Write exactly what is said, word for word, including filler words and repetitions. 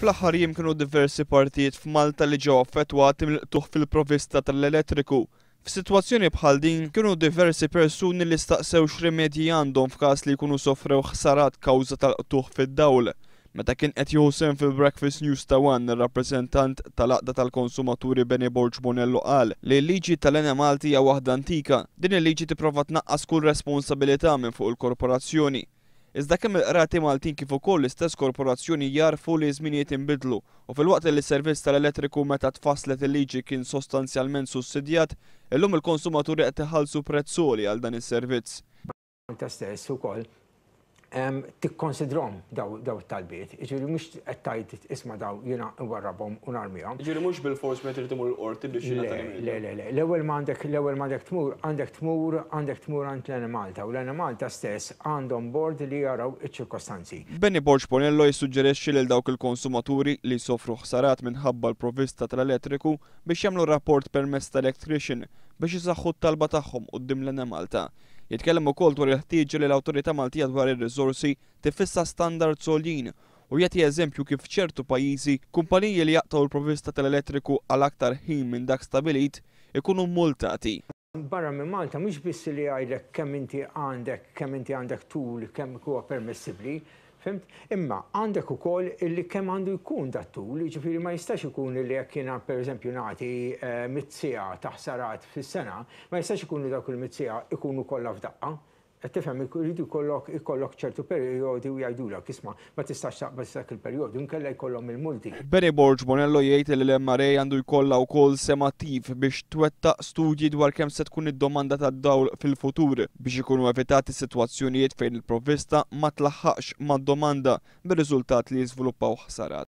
Fl-aħħar jiem kienu diversi partijiet f'Malta li ġew affettwati mill-qtugħ fil-provvista tal-elettriku. F'sitwazzjoni bħal din kienu diversi persuni li staqsew x'rimedji għandhom f'każ li jkunu sofrew ħsarat kawża tal-qtugħ fid-dawl. Meta kien qed jieħu sehem fil-Breakfast News ta' One, ir-rappreżentant tal-Għaqda tal-Konsumaturi Benny Borg Bonello qal li l-liġi tal-Enemalta hija waħda antika. Din il-liġi tipprova tnaqqas kull responsabilità minn fuq il-korporazzjoni. Iżda kemm il-qrati Maltin kif ukoll l-istess korporazzjoni jarfu li żminijiet inbidlu u filwaqt li s-servizz tal-elettriku meta tfasslet il-liġi kien sostanzjalment sussidjat, illum il-konsumaturi qed iħallsu prezz għoli għal dan is-servizz. Malta stess ukoll tikkonsidrom daw it-talbiet. Jiġifieri mhux qed tgħid, "Isma', daw jiena nwarrabhom u narmihom." Jiġifieri mhux bil-fors meta trid imur il-qorti biex jingħata. Le, le, le. L-ewwel ma għandek l-ewwel ma għandek tmur, għandek tmur, għandek tmur għand l-Enemalta u l-Enemalta stess għandhom board li jaraw iċ-ċirkostanzi. Benny Borg Bonello jissuġġerixxi lil dawk il-konsumaturi li sofru ħsarat minħabba l-provvista tal-elettriku biex jagħmlu rapport permezz tal-electrician biex isaħħu t-talba tagħhom quddiem l-Enemalta. Jitkellem ukoll dwar il-ħtieġa li l-Awtorità Maltija dwar ir-riżorsi tifissa standards għoljin u jagħti eżempju kif ċertu pajjiżi kumpaniji li jaqtgħu l-provvista tal-elettriku għal aktar ħin minn dak stabilit ikunu multati. Barra minn Malta mhux biss li jgħidlek kemm inti għandek, kemm inti għandek tul, kemm huwa permissibbli, fhimt? Imma għandek ukoll illi kemm għandu jkun dat-tul, jiġifieri ma jistax ikun illi jekk jiena, pereżempju, nagħti eh, mitt siegħa ta' ħsarat fis-sena, ma jistax ikun li dawk il-mitt siegħa ikunu kollha f'daqqa. Qed tifhem, iridu jkollok ikollok ċertu perjodi u jgħidulek, "Isma', ma tistax taqbeż dak il-perjodu, inkella jkollhom il-multi." Benny Borg Bonello jgħid li l-M R A għandu jkollha wkoll sehem attiv biex twettaq studji dwar kemm se tkun id-domanda tad-dawl fil-futur biex ikunu evitati sitwazzjonijiet fejn il-provvista ma tlaħħaqx mad-domanda bir-riżultat li jiżviluppaw ħsarat.